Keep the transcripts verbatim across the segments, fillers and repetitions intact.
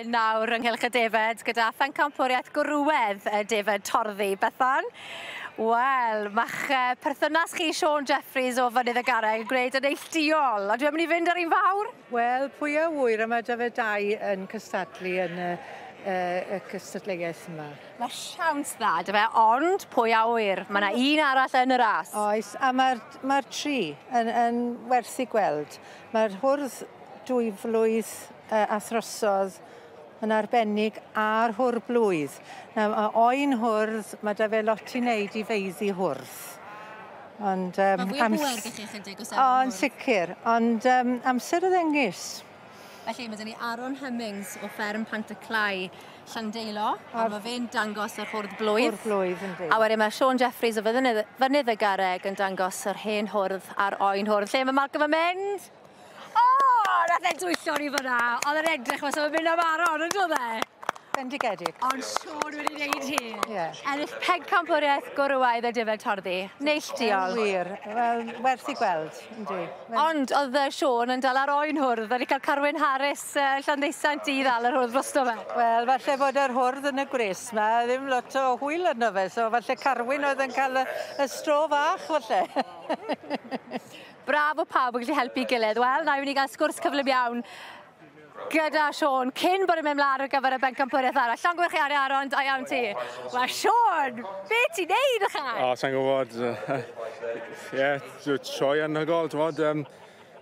hyn nawr ynghylch y defed gyda phencampwriaeth gwrywedd y defed torddi. Bethan? Wel, ma'ch perthynas chi Siôn Jeffreys o Fynydd y Garreg yn gwneud yn neilltuol. A dwi'n mynd i fynd ar un fawr? Wel, pwy a ŵyr, a mae 'da fe dau yn cystadlu yn y, y, y cystadleuaeth yma. Mae siawns dda, dy fe, ond pwy a ŵyr? Mae yna un arall yn y ras. Oes, a mae'r mae tri yn, yn werth i gweld. Mae'r hwrdd dwy flwydd uh, a throsodd yn arbennig a'r hwr blwydd. Nawr, mae oen hwrdd, mae 'da fe lot i wneud i feiddi hwrdd. Ond, um, mae fwy o bwer gyda chi chydig o O, yn sicr. Ond um, amser y ddengys. Felly, mae 'da ni Aaron Hemmings o fferm Pant-y-clai Llandeilo, a mae fe'n dangos yr hwrdd blwydd. Hwrdd blwydd, yndi. A wedyn mae Siôn Jeffreys o Fynydd, Fynydd y Garreg yn dangos yr hen hwrdd a'r oen hwrdd. Lle mae Malcolm yn mynd? O, nath e dwyllo ni fyna. Oedd e'n edrych fel o'n mynd am Aaron, yn dod e? Bendigedig. Ond Siôn wedi wneud hi. Ie. Ennill pencampwriaeth gwrywaidd y defed torddi. Neilltuol. Wir. Wel, werth i gweld, yndi. Ond oedd Siôn yn dal ar oen hwrdd. Wedi cael Carwyn Harris uh, Llanddeusant i ddal yr hwrdd drosto fe. Wel, falle bod yr hwrdd yn y gwres 'ma, ddim lot o hwyl arno fe, so falle Carwyn oedd yn cael y, y stro fach, falle. Braf o pawb yn gallu helpu gilydd. Wel, na i fynd i gael sgwrs cyflym iawn gyda Siôn cyn bod yn mynd mlaen ar gyfer y bencampwriaeth arall. Llongyfarchiadau Aaron, da iawn ti. Wel, Siôn, be ti'n neud ychan? O, sa'n gwybod. Ie, sioe anhygoel, ti'n gwybod. Um,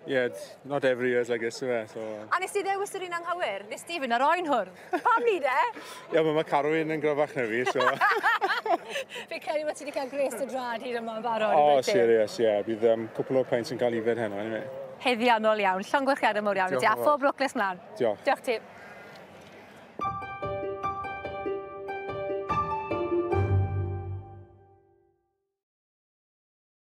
yeah, not every year's like this, yw e, so... A nes ti ddewis yr un anghywir? Nes ti fynd ar oen hwrdd? Pam ni de? Ie, yeah, mae Carwyn yn gryfach na fi, so... Fi credu bod ti wedi cael gwres dy drad hyd yma yn barod. O, oh, serious, ie. Yeah. Bydd um, cwpl o peints yn cael ifed heno, anyway. Haeddiannol iawn. Llongyfarchiadau mawr iawn i ti, a phob lwc nes mlaen. Diolch. Diolch ti.